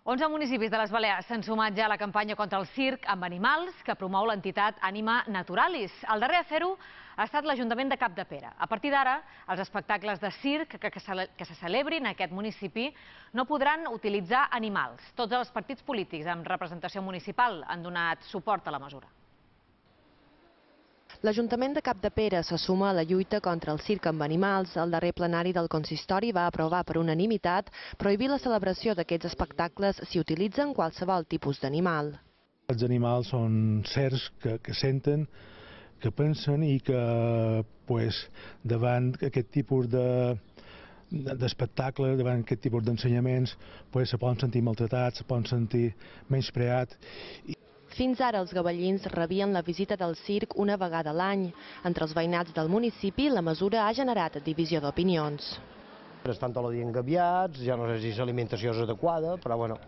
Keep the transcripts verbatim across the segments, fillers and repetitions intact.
onze municipis de les Balears s'han sumat ja a la campanya contra el circ amb animals que promou l'entitat Anima Naturalis. El darrer a fer-ho ha estat l'Ajuntament de Capdepera. A partir d'ara, els espectacles de circ que se celebrin en aquest municipi no podran utilitzar animals. Tots els partits polítics amb representació municipal han donat suport a la mesura. L'Ajuntament de Capdepera se suma a la lluita contra el circ amb animals. El darrer plenari del consistori va aprovar per unanimitat prohibir la celebració d'aquests espectacles si utilitzen qualsevol tipus d'animal. Els animals són sers que, que senten, que pensen i que pues, davant aquest tipus de d'espectacle, davant aquest tipus d'ensenyaments, pues, se poden sentir maltratats, se poden sentir menyspreats. Fins ara els gavellins rebien la visita del circ una vegada a l'any. Entre els veïnats del municipi, la mesura ha generat divisió d'opinions. Estan tot el dia engabiats, ja no sé si l'alimentació és adequada, però bueno,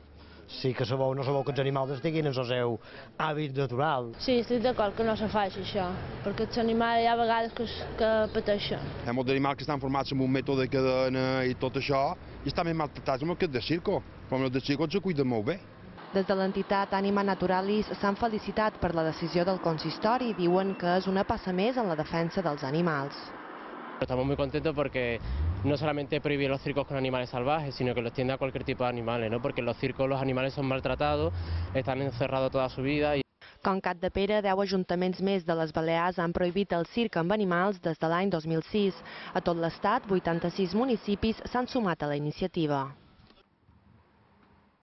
sí que sabeu, no sabeu que els animals estiguin en el seu hàbit natural. Sí, estic d'acord que no se faci això, perquè els animals hi ha vegades que, que pateixen. Hi ha molts animals que estan formats amb un mètode de cadena i tot això, i estan ben maltratats amb aquest de circo, però els de circo se cuiden molt bé. Des de l'entitat Anima Naturalis s'han felicitat per la decisió del consistori i diuen que és una passa més en la defensa dels animals. Estamos muy contentos porque no solamente prohibir los circos con animales salvajes, sino que lo extiende a cualquier tipo de animales, ¿no? Porque en los circos los animales son maltratados, están encerrados toda su vida. Y... Com Capdepera, deu ajuntaments més de les Balears han prohibit el circ amb animals des de l'any dos mil sis. A tot l'estat, vuitanta-sis municipis s'han sumat a la iniciativa.